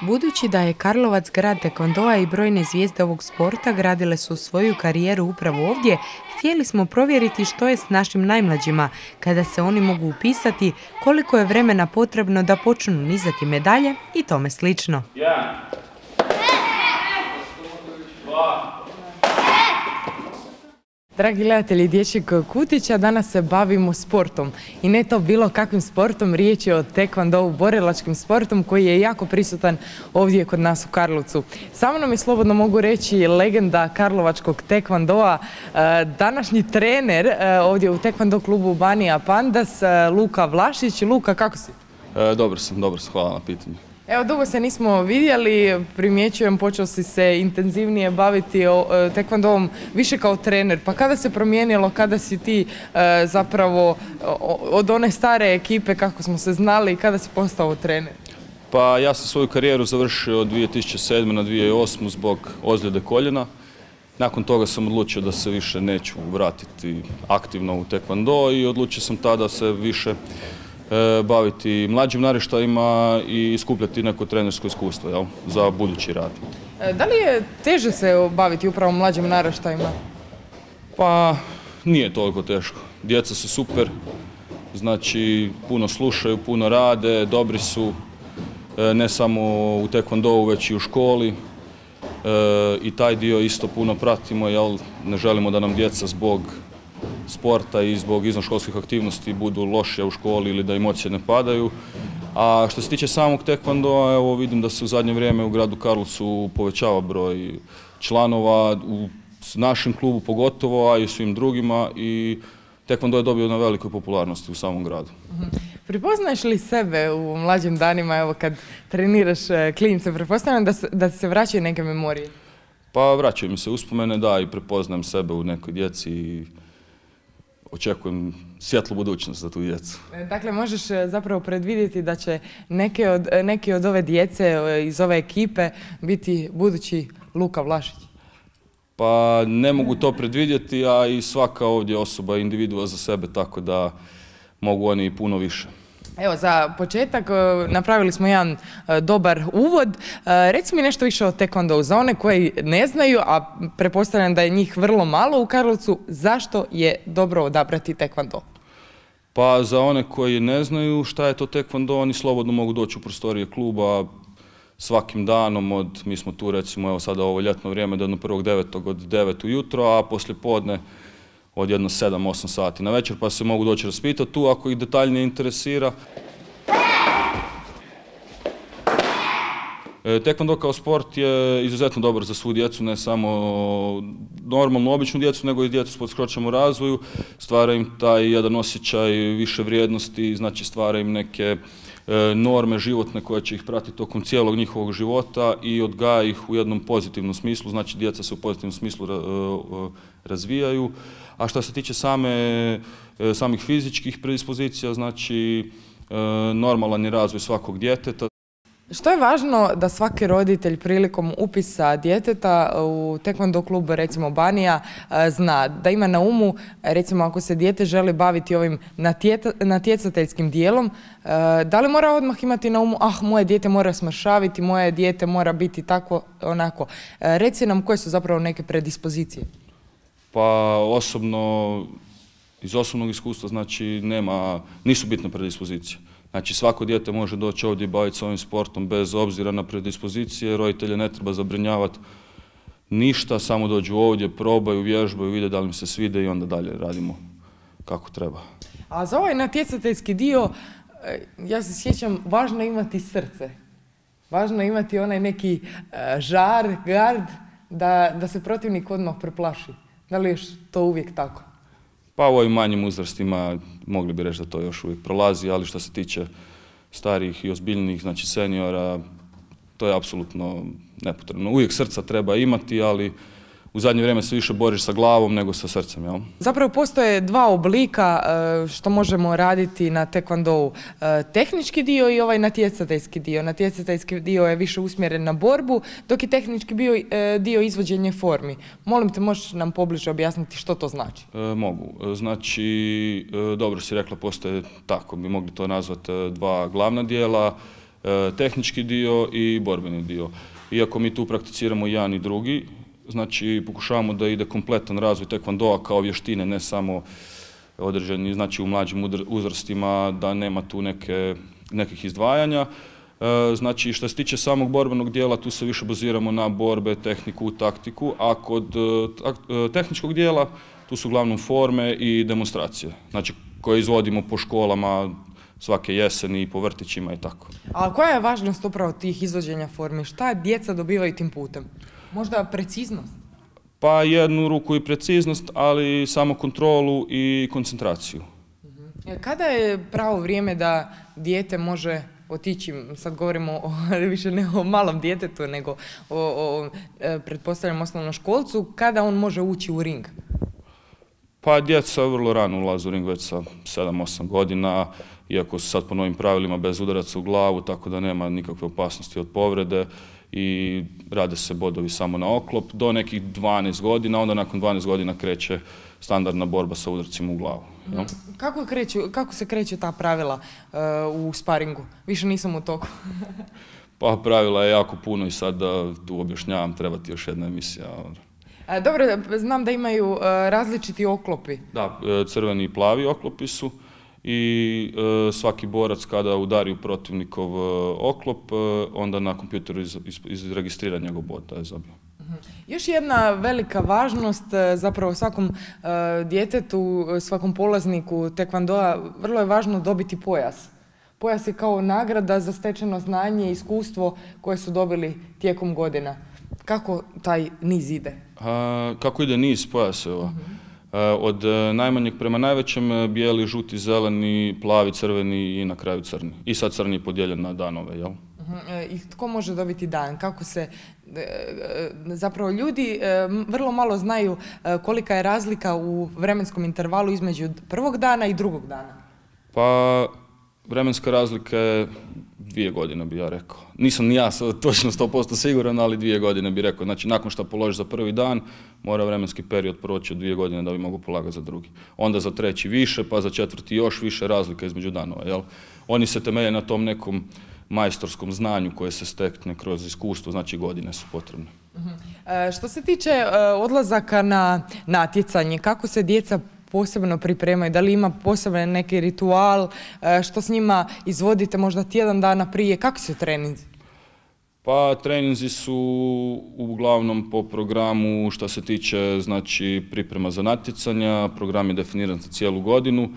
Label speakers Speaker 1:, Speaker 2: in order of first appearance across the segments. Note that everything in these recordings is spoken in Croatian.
Speaker 1: Budući da je Karlovac grad taekwondoa i brojne zvijezde ovog sporta gradile su svoju karijeru upravo ovdje, htjeli smo provjeriti što je s našim najmlađima, kada se oni mogu upisati, koliko je vremena potrebno da počnu nizati medalje i tome slično. Dragi gledatelji Dječjeg kutića, danas se bavimo sportom i ne to bilo kakvim sportom, riječ je o taekwondou, borilačkim sportom koji je jako prisutan ovdje kod nas u Karlovcu. Sa mnom je, slobodno mogu reći, legenda karlovačkog taekwondoa, današnji trener ovdje u taekwondo klubu Banija Pandas, Luka Vlašić. Luka, kako si?
Speaker 2: Dobro sam, hvala na pitanju.
Speaker 1: Evo, dugo se nismo vidjeli, primjećujem, počeo si se intenzivnije baviti taekwondoom više kao trener. Pa kada se promijenilo, kada si ti zapravo od one stare ekipe kako smo se znali, kada si postao trener?
Speaker 2: Pa ja sam svoju karijeru završio od 2007. na 2008. zbog ozljede koljena. Nakon toga sam odlučio da se više neću vratiti aktivno u taekwondo i odlučio sam tada se više baviti mlađim naraštajima i skupljati neko trenersko iskustvo za budući rad.
Speaker 1: Da li je teže se baviti upravo mlađim naraštajima?
Speaker 2: Pa nije toliko teško. Djeca su super, znači puno slušaju, puno rade, dobri su ne samo u taekwondou već i u školi i taj dio isto puno pratimo, jer ne želimo da nam djeca zbog sporta i zbog izvanškolskih aktivnosti budu lošije u školi ili da im ocjene padaju. A što se tiče samog taekwondoa, evo vidim da se u zadnje vrijeme u gradu Karlovcu povećava broj članova, u našem klubu pogotovo, a i u svim drugima, i taekwondo je dobio na velikoj popularnosti u samom gradu.
Speaker 1: Prepoznaješ li sebe u mlađim danima, evo kad treniraš klince, pretpostavljam da se vraćaju neke memorije?
Speaker 2: Pa vraćaju mi se uspomene, da, i prepoznajem sebe u nekoj djeci i očekujem svjetlu budućnost za tu djecu.
Speaker 1: Dakle, možeš zapravo predvidjeti da će neke od ove djece iz ove ekipe biti budući Luka Vlašić?
Speaker 2: Pa ne mogu to predvidjeti, a i svaka ovdje osoba je individua za sebe, tako da mogu oni i puno više.
Speaker 1: Evo, za početak napravili smo jedan dobar uvod. Reci mi nešto više o taekwondou. Za one koji ne znaju, a pretpostavljam da je njih vrlo malo u Karlovcu, zašto je dobro odabrati taekwondo?
Speaker 2: Pa za one koji ne znaju šta je to taekwondo, oni slobodno mogu doći u prostorije kluba svakim danom. Mi smo tu recimo evo sada ovo ljetno vrijeme do 1.9. od 9 ujutro, a poslije podne od jedno 7-8 sati na večer, pa se mogu doći raspitati tu ako ih detaljnije interesira. Taekwondo kao sport je izuzetno dobar za svu djecu, ne samo normalnu, običnu djecu, nego i djecu s poteškoćama u razvoju. Stvara im taj jedan osjećaj više vrijednosti, znači stvara im neke norme životne koje će ih pratiti tokom cijelog njihovog života i odgaja ih u jednom pozitivnom smislu, znači djeca se u pozitivnom smislu razvijaju. A što se tiče samih fizičkih predispozicija, znači normalan je razvoj svakog djeteta.
Speaker 1: Što je važno da svaki roditelj prilikom upisa djeteta u taekwondo klub, recimo Banija, zna, da ima na umu, recimo ako se dijete želi baviti ovim natjecateljskim dijelom, da li mora odmah imati na umu, moje dijete mora smršaviti, moje dijete mora biti tako, onako. Reci nam koje su zapravo neke predispozicije.
Speaker 2: Pa iz osobnog iskustva, znači nisu bitne predispozicije. Znači svako dijete može doći ovdje i baviti se ovim sportom bez obzira na predispozicije, roditelje ne treba zabrinjavati ništa, samo dođu ovdje, probaju, vježbaju, vide da li im se svide i onda dalje radimo kako treba.
Speaker 1: A za ovaj natjecateljski dio, ja se sjećam, važno je imati srce. Važno je imati onaj neki žar, gard, da se protivnik odmah preplaši. Da li je to uvijek tako?
Speaker 2: Pa u ovim manjim uzrastima mogli bi reći da to još uvijek prolazi, ali što se tiče starijih i ozbiljnijih, znači seniora, to je apsolutno nepotrebno. Uvijek srca treba imati, ali u zadnje vrijeme se više boriš sa glavom nego sa srcem, jel?
Speaker 1: Zapravo postoje dva oblika što možemo raditi na taekwondou. Tehnički dio i ovaj natjecateljski dio. Natjecateljski dio je više usmjeren na borbu, dok je tehnički dio izvođenje formi. Molim te, možeš nam pobliže objasniti što to znači?
Speaker 2: Mogu. Znači, dobro si rekla, postoje, tako bi mogli to nazvati, dva glavna dijela. tehnički dio i borbeni dio. Iako mi tu prakticiramo jedan i drugi, znači pokušavamo da ide kompletan razvoj tekvandoa kao vještine, ne samo određeni, znači u mlađim uzrastima, da nema tu nekih izdvajanja. Znači, što se tiče samog borbenog dijela, tu se više baziramo na borbe, tehniku, taktiku, a kod tehničkog dijela tu su uglavnom forme i demonstracije, znači koje izvodimo po školama svake jeseni i po vrtićima i tako.
Speaker 1: A koja je važnost upravo tih izvođenja formi? Šta djeca dobivaju tim putem? Možda preciznost?
Speaker 2: Pa jednu ruku i preciznost, ali samo kontrolu i koncentraciju.
Speaker 1: Kada je pravo vrijeme da dijete može otići, sad govorimo više ne o malom djetetu, nego o pretpostavljam osnovnoškolcu, kada on može ući u ring?
Speaker 2: Pa djeca vrlo rano ulaze u ring, već sa 7-8 godina, iako su sad po novim pravilima bez udaraca u glavu, tako da nema nikakve opasnosti od povrede i rade se bodovi samo na oklop do nekih 12 godina, onda nakon 12 godina kreće standardna borba sa udarcima u glavu. Ja?
Speaker 1: Kako se kreću ta pravila u sparingu? Više nisam u toku.
Speaker 2: Pa pravila je jako puno i sad da tu objašnjavam, treba ti još jedna emisija.
Speaker 1: Dobro, znam da imaju različiti oklopi.
Speaker 2: Da, crveni i plavi oklopi su i svaki borac kada udari u protivnikov oklop, onda na kompjuteru izregistrira njegov bod da je zabio.
Speaker 1: Još jedna velika važnost, zapravo svakom djetetu, svakom polazniku tekvandoa, vrlo je važno dobiti pojas. Pojas je kao nagrada za stečeno znanje i iskustvo koje su dobili tijekom godina. Kako taj niz ide?
Speaker 2: Kako ide niz pojaseva? Od najmanjeg prema najvećem, bijeli, žuti, zeleni, plavi, crveni i na kraju crni. I sad crni je podijeljen na danove, jel?
Speaker 1: I tko može dobiti dan? Kako se, zapravo ljudi vrlo malo znaju kolika je razlika u vremenskom intervalu između prvog dana i drugog dana.
Speaker 2: Pa vremenska razlika je 2 godine bi ja rekao. Nisam ni ja točno 100% siguran, ali 2 godine bi rekao. Znači nakon što položiš za prvi dan, mora vremenski period proći od 2 godine da bi mogu polagati za drugi. Onda za treći više, pa za četvrti još više, razlika između danova. Jel? Oni se temelje na tom nekom majstorskom znanju koje se stekne kroz iskustvo, znači godine su potrebne.
Speaker 1: Što se tiče odlazaka na natjecanje, kako se djeca posebno pripremaju? Da li ima poseban neki ritual? Što s njima izvodite možda tjedan dana prije? Kako su treninzi?
Speaker 2: Pa treninzi su uglavnom po programu što se tiče znači priprema za natjecanja, program je definiran za cijelu godinu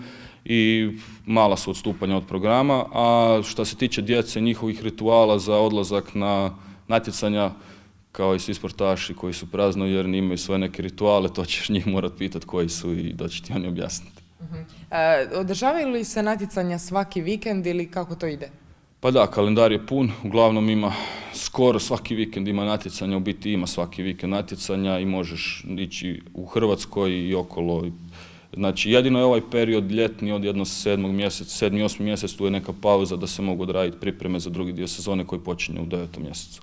Speaker 2: i mala su odstupanja od programa, a što se tiče djece njihovih rituala za odlazak na natjecanja, kao i svi sportaši koji su praznovjerni, imaju svoje neke rituale, to ćeš njih morat pitati koji su i da će ti oni objasniti.
Speaker 1: Održavaju li se natjecanja svaki vikend ili kako to ide?
Speaker 2: Pa da, kalendar je pun, uglavnom ima skoro svaki vikend ima natjecanja, u biti ima svaki vikend natjecanja i možeš ići u Hrvatskoj i okolo. Znači jedino je ovaj period ljetni od jedno 7. mjesec, 7. 8. mjesec, tu je neka pauza da se mogu odraditi pripreme za drugi dio sezone koji počinje u 9. mjesecu.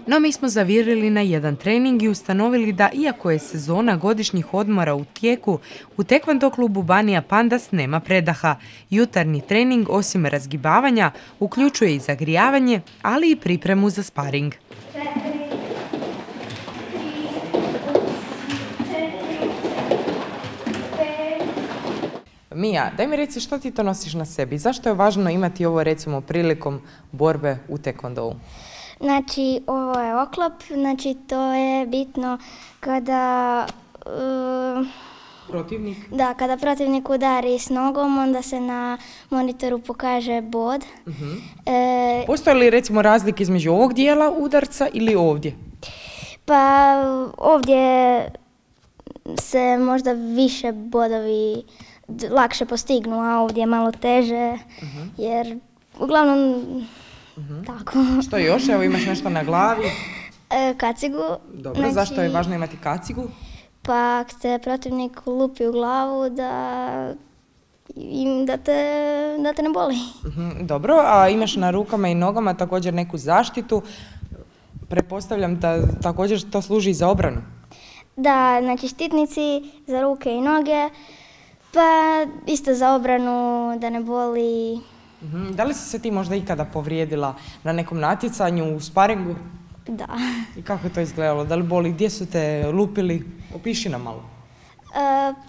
Speaker 3: No mi smo zavirili na jedan trening i ustanovili da iako je sezona godišnjih odmora u tijeku, u tekvando klubu Banija Pandas nema predaha. Jutarnji trening osim razgibavanja uključuje i zagrijavanje, ali i pripremu za sparing.
Speaker 1: Mija, daj mi reci što ti to nosiš na sebi? Zašto je važno imati ovo recimo prilikom borbe u tekvandou?
Speaker 4: Znači, ovo je oklop, znači to je bitno kada
Speaker 1: Protivnik?
Speaker 4: Da, kada protivnik udari s nogom, onda se na monitoru pokaže bod.
Speaker 1: Postoje li recimo razlike između ovog dijela udarca ili ovdje?
Speaker 4: Pa ovdje se možda više bodovi lakše postignu, a ovdje je malo teže, jer uglavnom tako.
Speaker 1: Što još? Evo imaš nešto na glavi.
Speaker 4: Kacigu.
Speaker 1: Dobro, znači, zašto je važno imati kacigu?
Speaker 4: Pa ako te protivnik lupi u glavu da te ne boli.
Speaker 1: Dobro, a imaš na rukama i nogama također neku zaštitu. Pretpostavljam da također to služi za obranu.
Speaker 4: Da, znači štitnici za ruke i noge, pa isto za obranu da ne boli
Speaker 1: Da li si se ti možda ikada povrijedila na nekom natjecanju u sparingu?
Speaker 4: Da.
Speaker 1: I kako je to izgledalo? Da li boli? Gdje su te lupili? Opiši nam malo.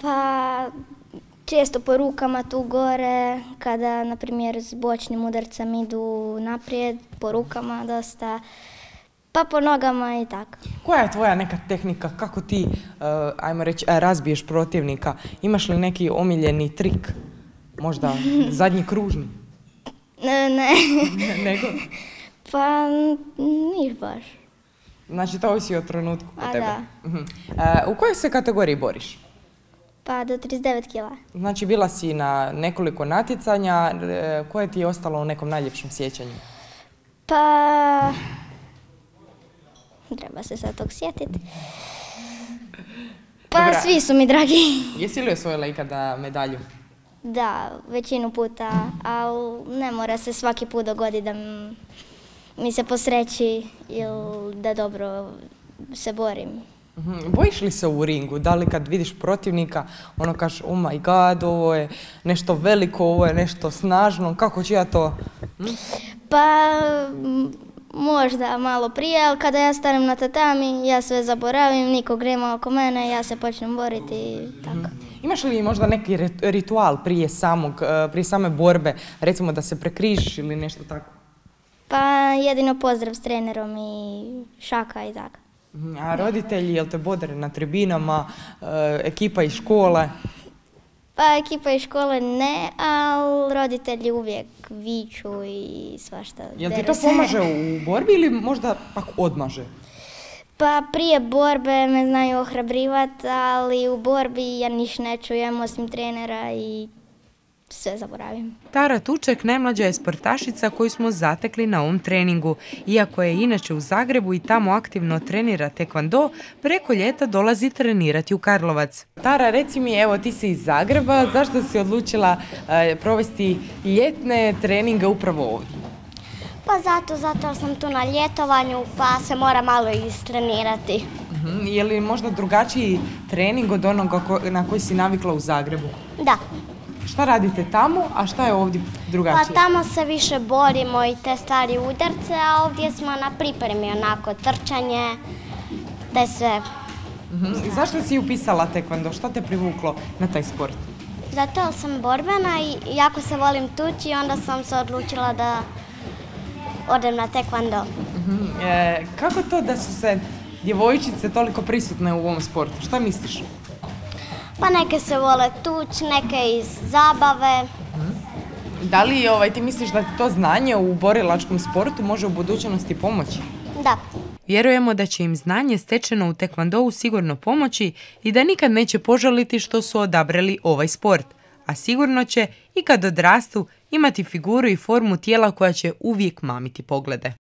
Speaker 4: Pa često po rukama tu gore, kada na primjer s bočnim udarcem idu naprijed, po rukama dosta, pa po nogama i tako.
Speaker 1: Koja je tvoja neka tehnika? Kako ti, ajmo reći, razbiješ protivnika? Imaš li neki omiljeni trik? Možda zadnji kružni?
Speaker 4: Ne.
Speaker 1: Nego?
Speaker 4: Pa niš baš.
Speaker 1: Znači, to ovisi o trenutku kod tebe.
Speaker 4: Da.
Speaker 1: U kojoj se kategoriji boriš?
Speaker 4: Pa do 39 kila.
Speaker 1: Znači, bila si na nekoliko natjecanja. Koje ti je ostalo u nekom najljepšem sjećanju?
Speaker 4: Pa treba se sad tog sjetiti. Pa
Speaker 1: Dobra.
Speaker 4: Svi su mi dragi.
Speaker 1: Jesi li osvojila ikada medalju?
Speaker 4: Da, većinu puta, ali ne mora se svaki put dogoditi da mi se posreći ili da dobro se borim.
Speaker 1: Bojiš li se u ringu? Da li kad vidiš protivnika, ono kažeš, oh my god, ovo je nešto veliko, ovo je nešto snažno, kako ću ja to?
Speaker 4: Pa možda malo prije, ali kada ja stanem na tatami, ja sve zaboravim, nikog nema oko mene, ja se počnem boriti i tako.
Speaker 1: Imaš li možda neki ritual prije same borbe, recimo da se prekrižiš ili nešto tako?
Speaker 4: Pa jedino pozdrav s trenerom i šaka i tako.
Speaker 1: A roditelji, jel te bodre na tribinama, ekipa iz škole?
Speaker 4: Pa ekipa iz škole ne, ali roditelji uvijek viču i svašta.
Speaker 1: Jel ti to pomaže u borbi ili možda pak odmaže?
Speaker 4: Pa prije borbe me znaju ohrabrivati, ali u borbi ja niš ne čujem osim trenera i sve zaboravim.
Speaker 3: Tara Tuček najmlađa je sportašica koju smo zatekli na ovom treningu. Iako je inače u Zagrebu i tamo aktivno trenira tekvando, preko ljeta dolazi trenirati u Karlovac.
Speaker 1: Tara, reci mi, evo ti si iz Zagreba, zašto si odlučila provesti ljetne treninge upravo ovdje?
Speaker 5: Pa zato jer sam tu na ljetovanju pa se mora malo istrenirati.
Speaker 1: Je li možda drugačiji trening od onoga na koji si navikla u Zagrebu?
Speaker 5: Da,
Speaker 1: Šta radite tamo, a šta je ovdje
Speaker 5: pa
Speaker 1: drugačije?
Speaker 5: tamo se više borimo i te stvari udarce, a ovdje smo na pripremi onako trčanje, te sve.
Speaker 1: Zašto si upisala tekvando? Šta te privuklo na taj sport?
Speaker 5: Zato jer sam borbena i jako se volim tući, onda sam se odlučila da odem na tekvando.
Speaker 1: Kako to da su se djevojčice toliko prisutne u ovom sportu? Šta misliš?
Speaker 5: Pa neke se vole tući, neke iz zabave.
Speaker 1: Da li ti misliš da ti to znanje u borilačkom sportu može u budućnosti pomoći?
Speaker 5: Da.
Speaker 3: Vjerujemo da će im znanje stečeno u tekvandou sigurno pomoći i da nikad neće požaliti što su odabrali ovaj sport. A sigurno će i kad odrastu imati figuru i formu tijela koja će uvijek mamiti poglede.